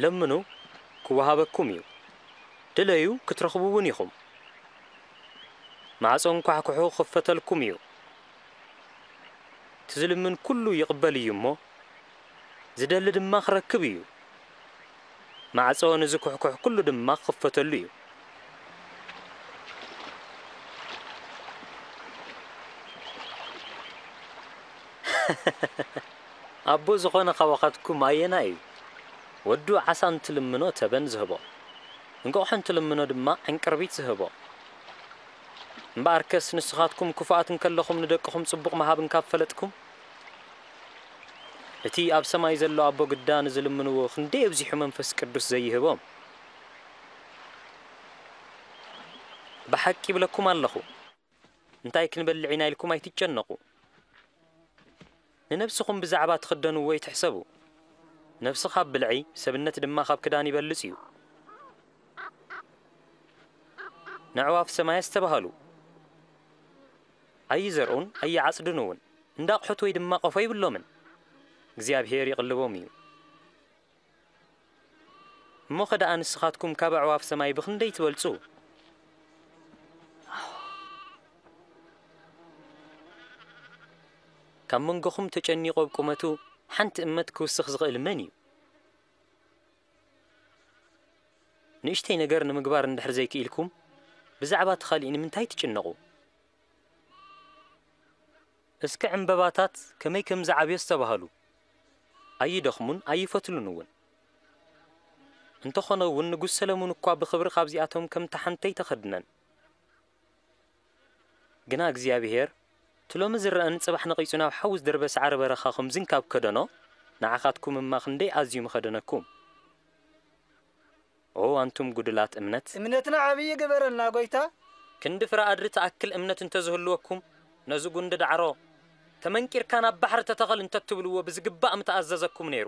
ለምኑ፣ ክወሃበኩም እዩ። ድለዩ፣ ክትረኽቡ እውን ኢኹም። ማዕጾ እንኳሕኩሑ፣ ክኽፈተልኩም እዩ። እቲ ዝልምን ኩሉ ይቕበል እዩ እሞ፣ ዝደሊ ድማ ክረክብ እዩ። ማዕጾ ንዝኩሕኩሕ ኩሉ ድማ ክኽፈተሉ እዩ። ኣቦ ዝኾነ ካባኻትኩም ኣየናይ እዩ? ወዱ ዓሳ እንትልምኖ ተበን ዝህቦ፣ እንቋቑሖ እንትልምኖ ድማ ዕንቅርቢት ዝህቦ። እምበኣርከስ ንስኻትኩም ክፉኣት እንከለኹም ንደቅኹም ጽቡቕ ምሃብ እንካብ ፈለጥኩም፣ እቲ ኣብ ሰማይ ዘሎ ኣቦ ግዳ ንዝልምንዎ ክንደይ ኣብዚሑ መንፈስ ቅዱስ ዘይህቦም። ብሓቂ ይብለኩም ኣለኹ፣ እንታይ ክንበልዕ ኢና ኢልኩም ኣይትጨነቑ። ንነብስኹም ብዛዕባ ትኽደንዎ ኣይትሕሰቡ። ነብሲ ካብ ብልዒ፣ ሰብነት ድማ ካብ ክዳን ይበልጽ እዩ። ነዕዋፍ ሰማይ ኣስተባህሉ፣ ኣይዘርኡን ኣይዓጽዱን እውን፣ እንዳ ኣቑሑት ወይ ድማ ቆፎ ይብሎምን። እግዚኣብሄር ይቕልቦም እዩ። እሞኸ ደኣ ንስኻትኩም ካብ ኣዕዋፍ ሰማይ ብኽንደይ ትበልጹ? ካብ መንጎኹም ተጨኒቑ ኣብ ቁመቱ ሓንቲ እመት ክውስኽ ዝኽእል መን እዩ? ንእሽተይ ነገር ንምግባር እንድሕር ዘይክኢልኩም፣ ብዛዕባ እቲ ኻሊእ ንምንታይ ትጭነቑ? እስከ ዕምበባታት ከመይ ከም ዝዓብዩ ኣስተባህሉ። ኣይደኽሙን ኣይፈትሉን እውን። እንተኾነ እውን ንጉስ ሰለሙን እኳ ብኽብሪ ካብዚኣቶም ከምታ ሓንቲ ኣይተኸድነን። ግና እግዚኣብሄር፣ እቲ ሎሚ ዝረኣን ጽባሕ ነቒጹ ናብ ሓዊ ዝደርበ ሳዕሪ በረኻ ከምዚ እንካብ ከደኖ፣ ንዓኻትኩም እማ ክንደይ ኣዝዩ ምኸደነኩም። ኦ ኣንቱም ጉዱላት እምነት! እምነትና ዓብዪ ግበረልና ጐይታ። ክንዲ ፍረ ኣድሪ ትኣክል እምነት እንተ ዝህልወኩም፣ ነዚ ጉንዲ ዳዕሮ፣ "ተመንቂርካ ናብ ባሕሪ ተተኸል" እንተ ትብልዎ ብዝግባእ ምተኣዘዘኩም ነይሩ።